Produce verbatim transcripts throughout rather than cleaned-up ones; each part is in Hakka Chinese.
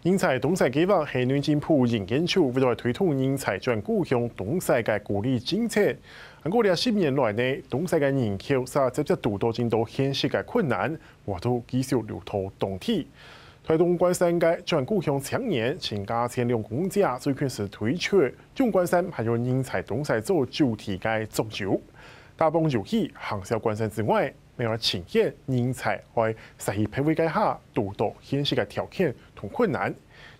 人才東西計畫係內政部營建處為了推動人才轉故鄉東西个鼓勵政策。毋過這十年來呢，東西个人口煞直接堵到真多現實个困難，活動繼續留到當地。台東關山个轉故鄉青年陳家千兩公姐最近時推出，中關山還有人才東西做主題个桌遊。打幫遊戲行銷關山之外， 另外呈現人才愛徙去別位个下堵到現實个條件同困難，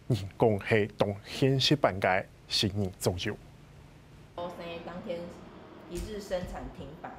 人講係當現實版个新人桌遊。生日當天一日生產停擺，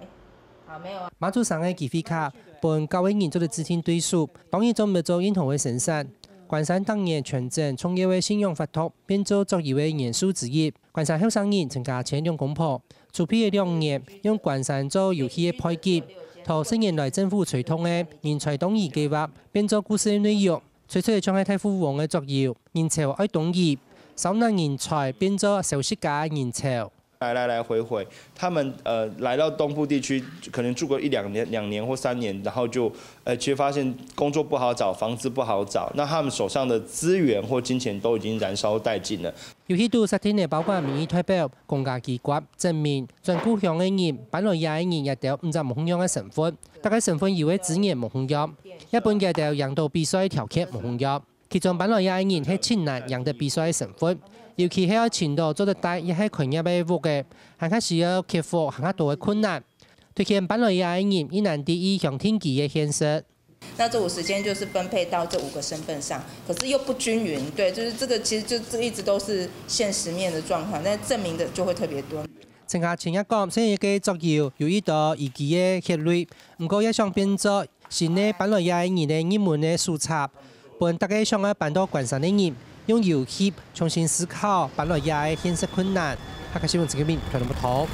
好，沒有啊。馬祖生个機會卡，分教會人做得指定對手，當然做毋得做任何个生產。關山逐年全鎮重要个信仰活動，變做桌遊个元素之一。關山後生人陳家千兩公婆， 籌備个兩年，用關山做遊戲个背景，同十年來政府推動个人才當移計畫變做故事个內容，推出个像係大富翁个桌遊，人潮愛當移，燒腦人才變做消失个人潮。來來來回回，他們呃來到東部地區，可能住個一兩年、兩年或三年，然後就呃其實發現工作不好找，房子不好找，那他們手上的資源或金錢都已經燃燒殆盡了。 遊戲肚設定个包括民意代表、公家機關、鎮民、轉故鄉个人、搬來這个人這兜五隻無共樣个身份，逐个身份有个資源無共樣，也分這兜贏到比賽个條件無共樣。其中搬來這个人係盡難贏得比賽个身份，尤其係愛尋到做得戴也係開業个屋个，還較需要克服還較多个困難。推薦搬來這个人，一難第一鄉定居个現實。 那這五十間就是分配到這五個身份上，可是又不均勻，對，就是這個其實就這一直都是現實面的狀況，但證明的就會特別多。陳家千也講，雖然該桌遊有一道移居个血淚，毋過也想變做新个搬來這个人个入門个手冊，分逐个想愛搬到關山个人，用遊戲重新思考搬來這个現實困難。客家新聞陳建明，台南報導。